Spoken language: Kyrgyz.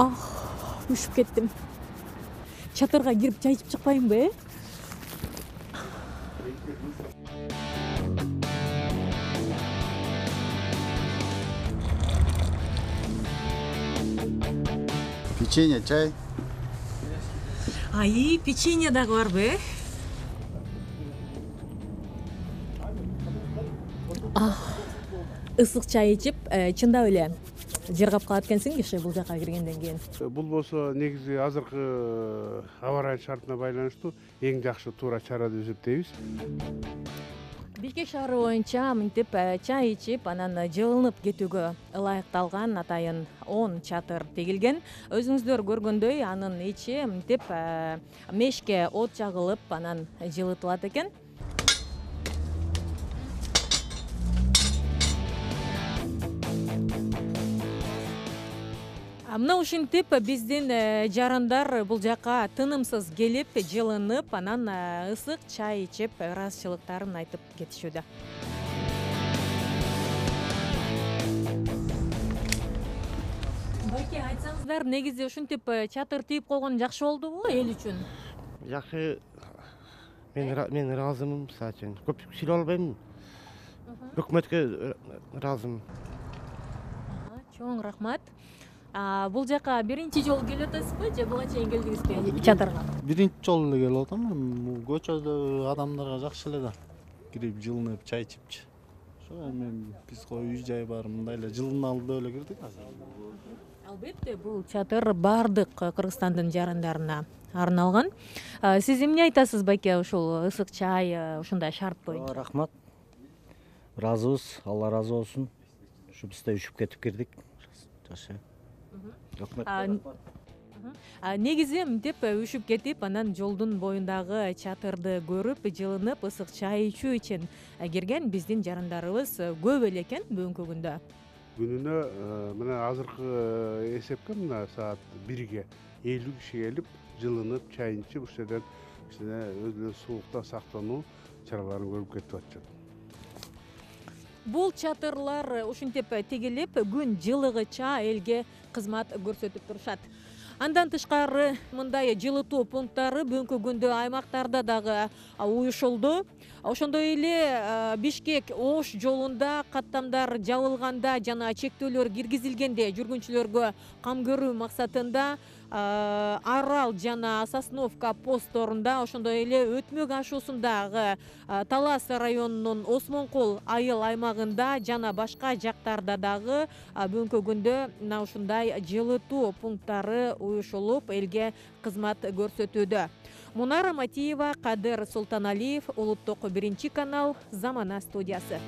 Ушуп кеттим. Чатырга кирип чай ичип чыкпайынбы, Печенье, чай. Печенье дагы барбы, Ысык чай ичип, чындап эле жыргап калат экенсиң киши бул жака киргенден кийин. Бул болсо негизи азыркы аба ырайы шартына байланыштуу эң жакшы туура чара деп эсептейбиз. Бишкек шаары боюнча мынтип чай ичип, анан жылынып кетүүгө ылайыкталган атайын 10 чатыр тегилген. Өзүңүздөр көргөндөй, анын ичи мынтип мешке от жагылып, анан жылытылат экен. Мына ушинтип биздин жарандар бул жака тынымсыз келип, жылынып, анан ысык чай ичип, ыраазычылыктарын айтып кетишүүдө. Байке, айтсаңыздар, негизи ушинтип чатыр тийип койгон жакшы болдубу эл үчүн? Жакшы. Мен ыраазымын, мисалы үчүн. Көп сүйлөй албайм. Өкмөткө ыраазымын. Чоң рахмат. Бул жака биринчи жолу келип атасызбы же буга чейин келдиңизби чатырга? Биринчи жолу эле келип атам. Көчөдө адамдарга жакшы эле да. Кирип жылынып чай ичипчи. Ошо эми биз үй жай бар, мындай эле жылыналы эле кирдик азыр. Албетте, бул чатыр бардык Кыргызстандын жарандарына арналган. Сиз эмне айтасыз, байке, ушул ысык чай ушундай шарт боюнча? Рахмат. Ыраазыбыз, Алла ыраазы болсун. Ушу биз да үшүп кетип кирдик. Жакшы. Негизи мынтип үшүп кетип, анан жолдун боюндагы чатырды көрүп, жылынып, ысык чай ичүү үчүн кирген биздин жарандарыбыз көп эле экен бүгүнкү күндө. Күнүнө мына азыркы эсепке мына саат 1ге 50 киши келип, жылынып, чай ичип, ушул жерден өзүнүн суулукта сактануу чараларын көрүп кетип атышат. Бул чатырлар ушинтип тигилип, күн жылыгыча элге кызмат көрсөтүп турушат. Андан тышкары мындай жылытуу пункттары бүгүнкү күндө аймактарда дагы уюшулду. Ошондой эле Бишкек Ош жолунда каттамдар жабылганда жана чектөөлөр киргизилгенде жүргүнчүлөргө кам көрүү максатында Арал жана Сосновка постторунда, ошондой эле Өтмөк ашуусундагы Талас районунун Осмонкол айыл аймагында жана башка жактарда дагы бүгүнкү күндө мына ушундай жылытуу пункттары уюшулуп, элге кызмат көрсөтүүдө. Мунара Матиева, Кадыр Султаналиев, Улуттук 1 канал, Замана студиясы.